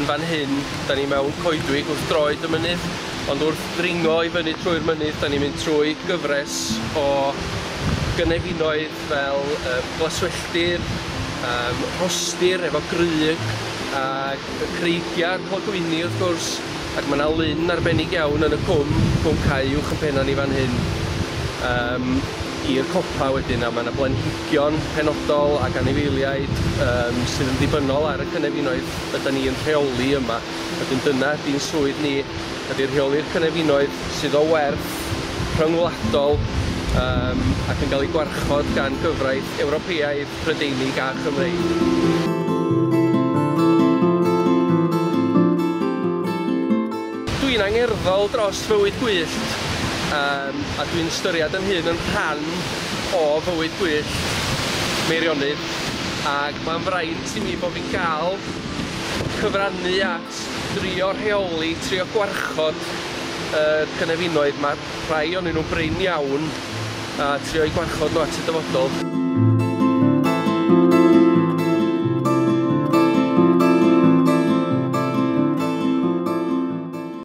Yn fan hyn, da ni mewn coedwig wrth droed y mynydd, ond wrth ddringo i fyny trwy'r mynydd, da ni'n mynd trwy gyfres o gynefinoedd fel glaswelltir, rhostir efo grug, ac y creigiau clogwyni wrth gwrs, ac mae yna lyn arbennig iawn yn y cwm, Cwm Cae uwch yn penna ni fan hyn, i'r copa wedyn, a mae yna blanhigion penodol ac anifeiliaid sydd yn ddibynnol ar y cynefinoedd ydan ni yn rheoli yma. Wedyn dyna ydy'n swydd ni, ydy rheoli'r cynefinoedd sydd o werth rhyngwladol ac yn cael eu gwarchod gan gyfraith Ewropeaidd, Prydeinig a Chymreig. Dwi'n angerddol dros fywyd gwyllt, a dwi'n ystyried yn hun yn rhan o fywyd gwyllt Meirionnydd, ac mae'n fraint i mi bod fi'n gael cyfrannu at drio rheoli, trio gwarchod y cynefinoedd. Mae rhai ohonyn nhw'n brin iawn, a trio eu gwarchod nhw at y dyfodol.